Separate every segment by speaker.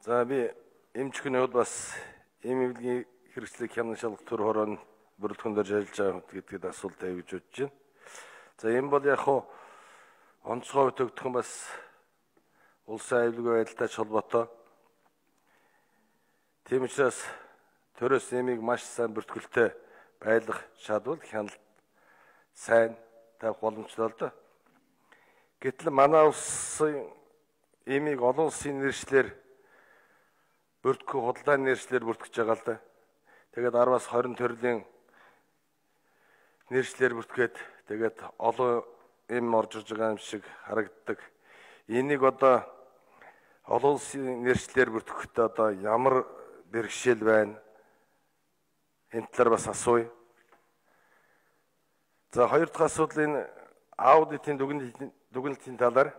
Speaker 1: За би эмчхний хувьд бас эмнэлгийн хэрэгслийг хянашаалгах төр хорон бүрэлдэхүүнээр ажиллаж байгаа гэдгийг асуулт тавьж бодож байна. За энэ бол яг хуу онцгой төгтгөн бас улсын аюулгүй байдалтай холбоотой. Тийм учраас төрөөс эмийг маш сайн бүртгүүлтэй байлгах шаардвал хяналт сайн тавих боломжтой л да. Гэтэл манай улсын эмийг олон улсын нэршлэр бүртгэх худалдааны нэршлэр бүртгэж байгаа л да. Тэгээд 10-аас 20 төрлийн нэршлэр бүртгээд тэгээд олон эм орж ирж байгаа юм шиг харагддаг. Энийг одоо олон улсын нэршлэр бүртгэхдээ одоо ямар бэрхшээл байна? Энэ талаар бас асууя. За хоёр дахь асуудал энэ аудитын дүгнэлтийн талаар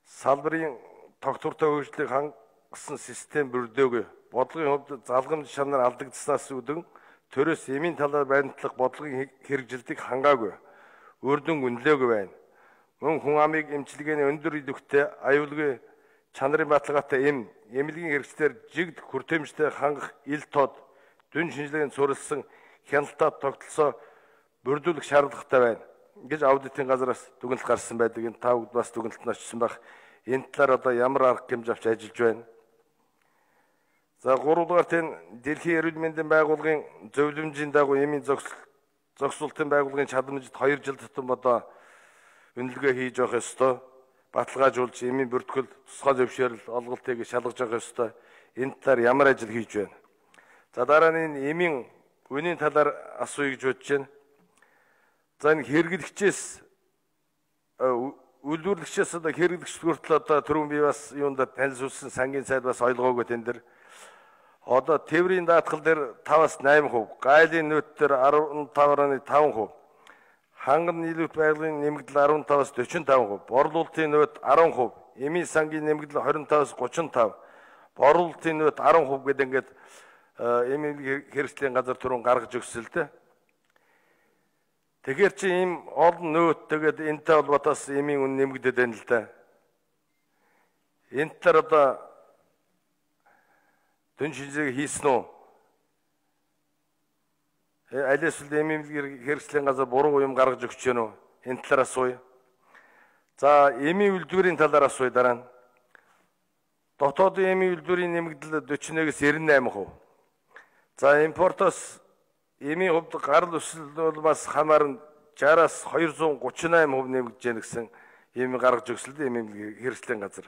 Speaker 1: салбарын тогтвортой хөгжлийг хангасан систем бүрдөөгүй. Бодлогын хувьд залгамж шанаар алдагдсанаас үүдэн төрөөс эмийн талаар баримтлах бодлогын хэрэгжилтийг хангаагүй. Үрдэн үнэлээгүй байна. Мөн хүн амыг эмчилгээний өндөр идэвхтэй аюулгүй чанарын баталгаатай эмнэлгийн хэрэгслээр жигд хүртээмжтэй хангах ил тод дүн шинжилгээнд суурилсан хяналтаа тогтолцоо бүрдүүлэх шаардлагатай байна гэж аудитын газраас дүгнэлт гарсан байдаг. Энэ та бүгд бас дүгнэлт нь очсон байх. Энэ талаар одоо ямар арга хэмжээ авч ажиллаж байна? За 3 дугаарт энэ Дэлхийн эрүүл мэндийн байгууллагын зөвлөмжийн дагуу эмийн зохицуулалтын байгууллагын чадамжид 2 жил тутам одоо үнэлгээ хийж явах ёстой. Баталгаажуулж эмийн бүртгэл тусгай зөвшөөрөл олголтыг шалгаж явах ёстой. Энэ талаар ямар ажил хийж байна? За дараа нь энэ эмийн үнийн талаар асууя гэж бодож байна. За энэ хэрэглэгчээс үйлдвэрлэгчээс одоо хэрэглэгч хүртэл одоо түрүүн би бас юунд танилцуулсан сангийн сайд бас ойлгоогүй тэн дээр. Одоо тээврийн даатгал дээр 5-аас 8%, гайлын нөөт дээр 15.5%, ханган нийлүүлэлт байгалийн нэмэгдэл 15-аас 45%, борлуулалтын нөөт 10%, эмийн сангийн нэмэгдэл 25-аас 35%, борлуулалтын нөөт 10% гэдэг ингээд эмийн хэрэгслийн газар түрүүн гаргаж өгсөн л дээ. Тэгэхээр чи ийм олон нөөт тэгээд энэтэй холбоотойс эмийн үн нэмэгдээд байна л да. Энэ төр одоо дүн шинжилгээ хийсэн үү? Аль эсвэл эмийн хэрэгслийн газар буруу юм гаргаж өгч гэнэ үү? Энэ талаар асууя. За эмийн үйлдвэрийн талаар асууя дараа нь. Дотоодын эмийн үйлдвэрийн нэмэгдэл 41-ээс 98%. За импортоос эмийн хувьд гарал өсөл бол бас хамаарна 60-аас 238% нэмэгдэж байна гэсэн эмийн гаргаж өгсөлд эмийн хэрэгслийн газар.